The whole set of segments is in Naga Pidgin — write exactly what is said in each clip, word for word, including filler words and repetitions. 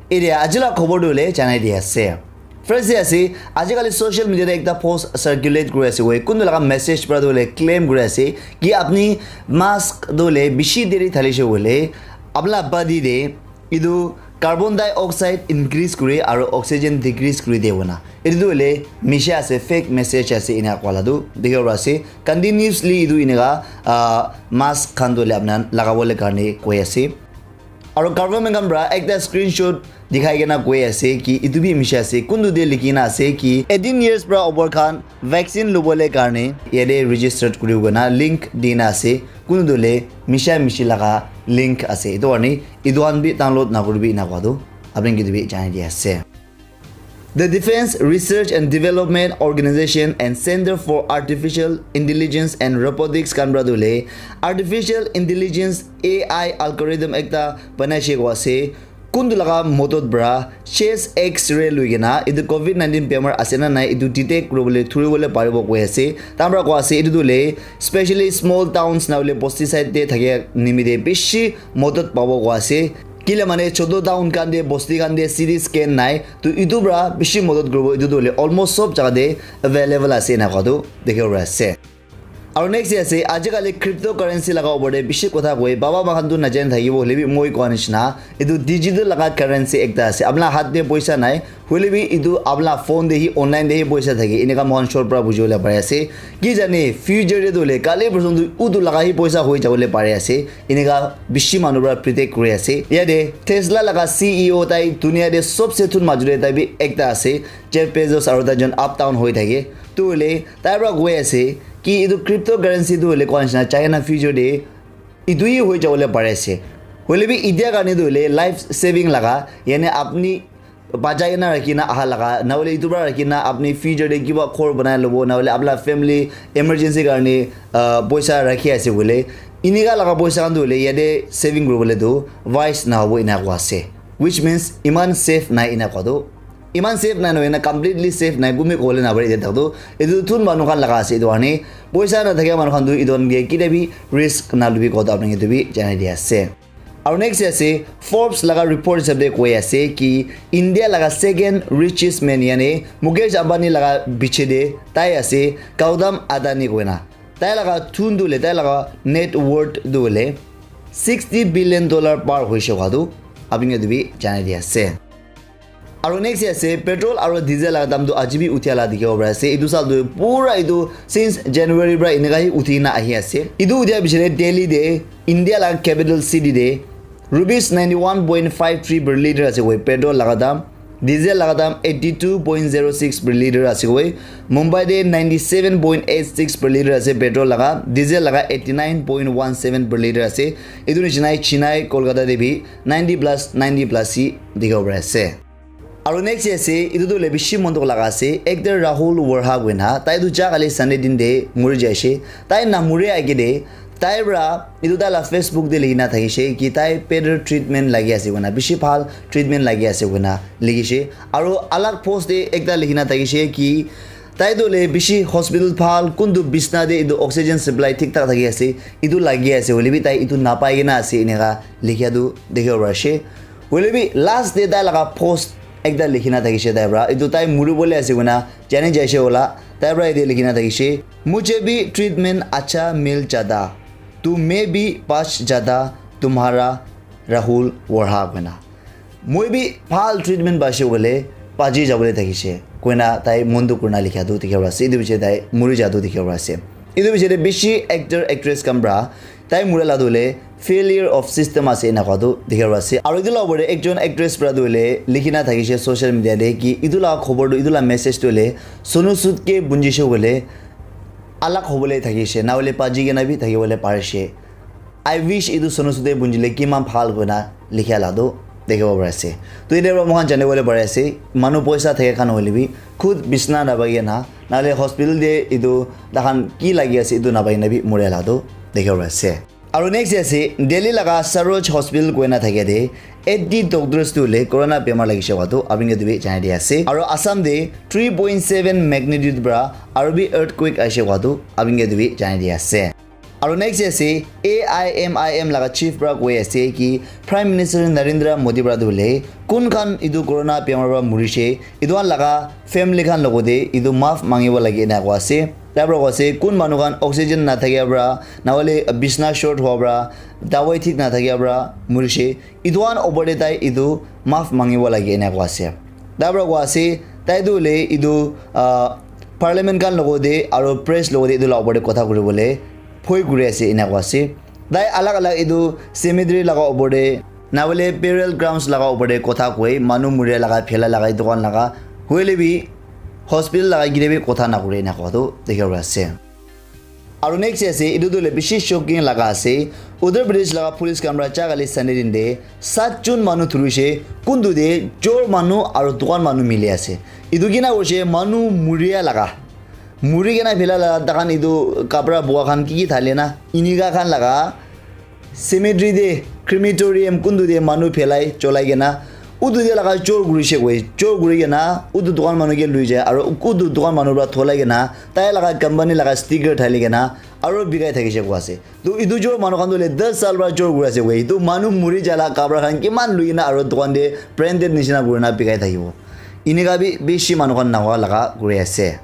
Area ajila khobor tu le janai di ase. First day ase, ajikali social media te ekta post circulate kuri ase, wei kuntu laga message para tu le claim kuri ase ki apni mask tu le bishi deri thali she wole apna body de idu carbon dioxide increase kuri aru oxygen decrease kuri de bona. Etu tu le misha ase, fake message ase ina kwala tu dikhibo ase. Continuously idu ineka ah, mask khan tu le apna lagabole karne koi ase. Aru government khan para ekta screenshot dikhai kena koi ase ki itu bi misha ase, kuntu te likhi na ase ki eighteen years para over khan vaccine lobole karne yate registered kuri kena link di na ase, kuntu le misha mishi laga link ase. Itu karne itu khan bi download na kuribi ina koa tu apni ke tu bi janai di ase. The Defense Research and Development Organization and Center for Artificial Intelligence and Robotics khan para tu le artificial intelligence A I algorithm ekta banai she ko ase. Kuntu laga modot para chest X-ray lui kena itu covid nineteen bemar ase na nai itu detect kuribole thuribole paribo koi ase. Tamra ko ase itu tu le specially small towns na hoile bosti side te thake nimite bishi modot pabo ko ase. Kile mane choto town khan te bosti khan te C T scan nai, to itu para bishi modot kuribo, itu tu hoile almost sob jaga te available ase ena koa tu dikhibo pari ase. Aru next te ase, ajikali cryptocurrency laga opor te bishi kotha koi, baba moikhan tu najani thakibo, hoile bi moi koa nishina, itu digital laga currency ekta ase. Apna hath te poisa nai, hoile bi itu apna phone te hi, online te hi poisa thake, eneka moikhan short para bujibole pari ase. Ki jane, future te tu hoile, kali porson tu utu laga hi poisa hoi jabole pari ase. Eneka bishi manu para predict kuri ase. Yate Tesla laga C E O tai dunia te sobse thun major te tai bi ekta ase. Jeff Bezos aru tai jon up down hoi thake. Tu hoile tai para koi ase ki itu cryptocurrency tu hoile koa nishina China future te itu hi hoi jabole pari ase. Hoile bi itia karne tu hoile life saving laga, yani apni bachai kena rakhi na aha laga, na hoile itu para rakhi na apni future te kiba ghor banai lobo, na hoile apna family emergency karne, ah, poisa rakhi ase koile, inika laga poisa khan tu hoile yate saving kuribole tu wise na hobo ina koa ase. Which means iman safe nai ina koa tu. Iman safe nai nohoi na completely safe nai, gumi kole na pare yate tu. Itu thun manu khan laga ase itu karne. Poisa na thake manu khan tu itu khan ke kita bi risk na lubi koa tu apni ke tu bi janai di ase. Aru next ase, Forbes laga report hisab te koi ase ki India laga second richest man, yani Mukesh Ambani laga piche te tai ase, Gautam Adani koina. Tai laga thun tu le, tai laga net worth tu le sixty billion dollar par hoise koa tu apni ke tu bi janai di ase. Aru next ase, petrol aru diesel laga dam tu aji bi uthia la dikhibo pari ase. Itu sal tu pura itu since January para eneka hi uthi na ahi ase. Itu uthia pichete Delhi te, India laga capital city te, rupees ninety one point five three per liter ase koi petrol laga dam. Diesel laga dam eighty two point zero six per liter ase koi. Mumbai te ninety seven point eight six per liter ase petrol laga, diesel laga eighty nine point one seven per liter ase. Itu nishina Chennai, Kolkata te bi ninety plus, ninety plus hi dikhibo pari ase. Aru next ase, itu tu hoile bishi mon dukh laga ase, actor Rahul Verma koina, tai tu ja kali Sunday din te muri jaise. Tai na muri age te, tai para itu tai la Facebook te likhi na thakise ki tai better treatment lagi ase koina, bishi bhal treatment lagi ase koina likhise. Aru alag post te ekta likhi na thakise ki tai tu hoile bishi hospital bhal, kuntu bisna te itu oxygen supply thik thak thaki ase, itu lagi ase, hoile bi tai itu napai kena ase, eneka likhia tu dikhibo pari ase. Hoile bi last te tai laga post ekta likhi na thakise tai para, itu tai muri bole ase koina jani jaise wala, tai para ite likhi na thakise, "Mujhe bhi treatment acha mil jata, tu main bhi bach jata, tumhara Rahul Verma" koina. Moi bi bhal treatment paise bole, baji jabole thakise koina tai mon dukh kurina likha tu dikhibo pari ase. Itu piche tai muri ja tu dikhibo pari ase. Itu piche te bishi actor, actress khan para tai mura la tu hoile failure of system ase ena koa tu dikhibo pari ase. Aru itu la opor te ekjon actress para tu hoile likhi na thakise social media te ki itu la khobor tu, itu la message tu hoile Sonu Sood ke bunjise hoile alag hobole thakise, na hoile baji kena bi thakibole parise. I wish itu Sonu Sood te bunjile kiman bhal koina likha la tu dikhibo pari ase. To ite para moikhan jani bole pari ase, manu poisa thake khan hoile bi khud bisna napai kena, na hoile hospital te itu takhan ki lagi ase itu napai kena bi muri la tu dikhibo pari ase. Aru next ase, Delhi laga Saroj Hospital koina thake te eighty doctors tu hoile corona bemar lagise koa tu apni ke tu bi janai di ase. Aru Assam te three point seven magnitude para aru bi earthquake aise koa tu apni ke tu bi janai di ase. Aru next ase, A I M I M laga chief para koi ase ki Prime Minister Narendra Modi para tu hoile kun khan etu corona bemar para murishe, etu khan laga family khan logote etu maaf mangibo lage ena koi ase. Tai para koi ase kun manu khan oxygen na thakia para, na hoile bisna short hua para, dawai thik na thakia para murishe, etu khan opor te tai etu maaf mangibo lage ena koi ase. Tai para koi ase, tai tu hoile etu, ah, parliament khan logote aru press logote etu la opor te kotha kuribole bhoi kuri ase ena koi ase. Tai alag alag etu cemetery laga opor te, na hoile burial grounds laga opor te kotha koi, manu muria laga, phela laga, etu khan laga, hoile bi hospital laga kile bi kotha na kure ena koi tu dikhi ase. Aru next ase, etu tu hoile bishi shocking laga ase. Uttar Pradesh laga police khan para cha kali Sunday din te sat jon manu thurishe, kuntu te chor manu aru dukan manu mili ase. Etu kina hoishe manu muria laga. Muri kena phela la, takhan etu kapra boga khan ki ki thale na, inika khan laga cemetery te, crematorium kuntu te manu phelai cholai kena, utu te laga chor kurishe koi, chor kuri kena, utu dukan manu ke lui jai, aro utu dukan manu pra tholai kena, tai laga company laga sticker thali kena, aro bikai thakishe koi ase. Tu etu chor manu khan tu le das saal pra chor kuri ase koi, etu manu muri jala kapra khan kiman lui kena aro dukan te branded nishina kuri na bikai thakibo. Inika bi bishi manu khan nahoa laga kuri ase.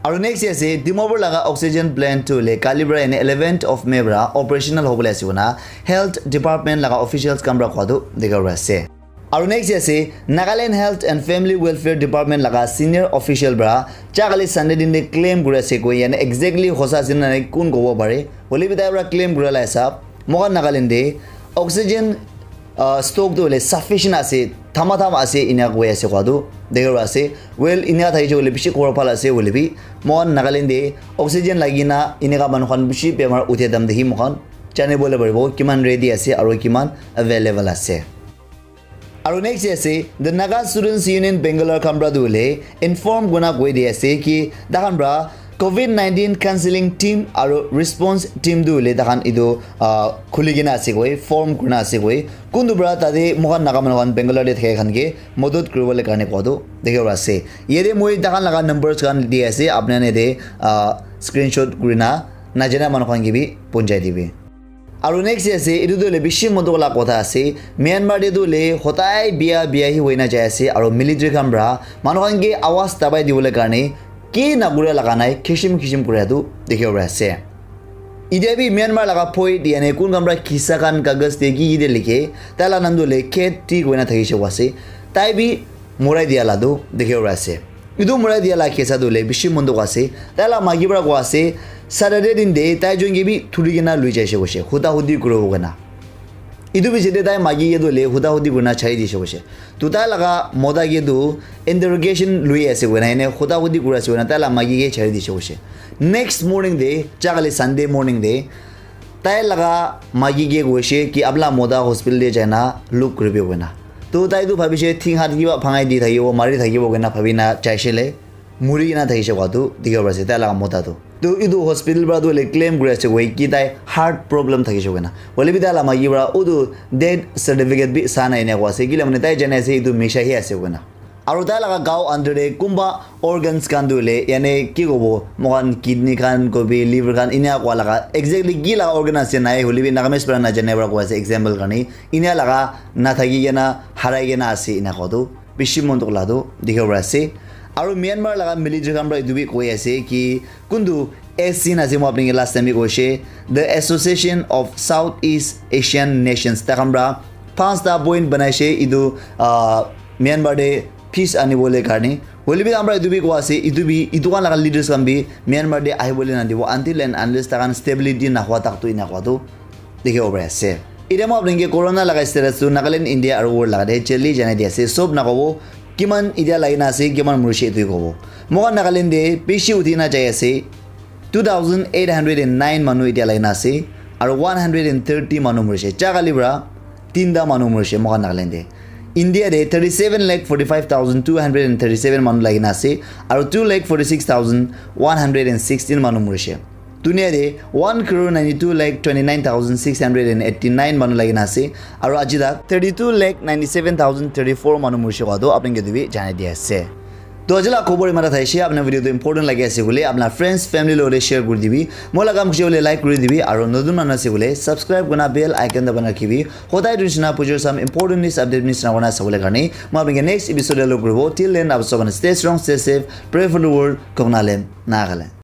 Aru next ase, Dimapur laga oxygen plant tu le kali pra yani eleventh of May pra operational hobole ase koina health department laga officials khan pra koa tu dikha pra ase. Aru next ase, Nagaland Health and Family Welfare Department laga senior official pra cha kali Sunday din de claim kuri ase koi, yani exactly hosa ase na nai kun kobo pare, hole bi tai pra claim kura la hisab, moikhan Nagaland de oxygen ah, stock tu hoile sufficient ase, thama thama ase, ena koi ase koa tu dikhi ase. Well, ena thakise hoile bishi khobor bhal ase, hoile bi moikhan Nagaland de oxygen lagi na eneka manu khan bishi bemar uthia time te hi moikhan jani bole paribo kiman ready ase aro kiman available ase. Aro next ase, the Naga Students Union Bangalore khan pra tu hoile inform kurina koi di ase ki takhan pra covid nineteen counseling team aro response team tu hoile takhan etu, ah, khuli kena ase koi, form kurina ase koi. Kuntu pra tate moikhan Naga manu khan Bangalore te thaka khan ke madad kuribole karne koa tu dikhi pra ase. Yate moi takhan laga numbers khan di ase, apni khan yate, ah, screenshot kurina najana manu khan ke bi punjai dibi. Aru next ase, etu tu hoile bishi mon dukh la kotha ase. Myanmar te tu hoile hodai bia bia hi hoina jai ase, aru military khan pra manu khan ke awaz dabai dibole karne ki na kura laga nai, khishim khishim kura tu dikhi bo pari ase. Itya bi Myanmar laga poi diya ne kun khan pra kisa khan kagaz te ki ki de likhe, tai la naam tu hoile Ket Thi koina thakishe koi ase. Tai bi morai diya la tu dikhi bo pari ase. Etu morai diya la kisa tu hoile bishi mon dukh ase. Tai la maki pra koi ase, Saturday din de tai jon ke bi thuri kena lui jaishe koishe, huda hudi kuribo koina. Etu piche te tai maki ke tu hoile huda hudi kurina chari dishe koishe. Tu tai laga mota ke tu interrogation lui ase koina, ene huda hudi kuri ase koina, tai la maki ke chari dishe koishe. Next morning de, cha kali Sunday morning de, tai laga maki ke koishe ki apna mota hospital te jaina look kuribi koina. Tu tai tu bhabishe thing hat kiba bhangai di thakibo, mari thakibo koina bhabi na jaishe le, muri kena thakishe koa tu dikhi bo pari ase tai laga mota tu. Tu etu hospital pra tu hoile claim kuri ase koi ki tai heart problem thakishe koina. Hole bi tai la maki pra utu death certificate bi sa nai ena koi ase. Kile mane tai jane ase etu misha hi ase koina. Aru tai laga gao under te kunba organs khan tu hoile, yani ki kobo, moikhan kidney khan, kobi, liver khan, ena koa laga exactly ki laga organ ase nai, hole bi Nagamese pra najane pra koi ase, example karne. Ena laga nathaki kena, harai kena ase, ena koa tu bishi mon dukh la tu dikhi bo pari ase. Aru Myanmar laga military khan pra etu bi koi ase ki kuntu S C na ase, moi apni ke last time bi koishe, the Association of Southeast Asian Nations, tai khan pra panchta point banaishe etu, ah, Myanmar te peace anibole karne. Hole bi tai khan pra etu bi koi ase, etu bi, etu khan laga leaders khan bi Myanmar te ahibole nadibo until and unless tai khan stability nahua tak tu ena koa tu dikhi bo pari ase. Itya moi apni ke corona laga status tu Nagaland, India aru world laga te jaldi janai di ase. Sob nakobo, kiman itya lagi na ase, kiman murishe etu kobo. Moikhan Nagaland te bishi uthi na jai ase. Two thousand eight hundred and nine manu itya lagi na ase. Aru one hundred and thirty manu murishe. Cha kali pra tinta manu murishe moikhan Nagaland te. India te thirty-seven lakh forty-five thousand two hundred and thirty-seven manu lagi na ase. Aru two lakh forty-six thousand one hundred and sixteen manu murishe. Dunia te one crore ninety-two lakh twenty-nine thousand six hundred and eighty-nine manu lagi na ase, aru aji tak thirty-two lakh ninety-seven thousand thirty-four manu murishe koa tu apni ke tu bi janai di ase. To aji la khobor imara thaishe, apna video tu important lagi ase bole, apna friends, family lo share kuri dibi. Moi la kam khushe bole like kuri dibi, aro notun manu ase bole subscribe kurna bell icon daban rakhibi. Hodai tu nishina pujor sam important news update nishina kona sabole karne. Moi apni ke next episode lo kuribo. Till then, apni sob stay strong, stay safe, pray for the world, Koknalem, Nagaland.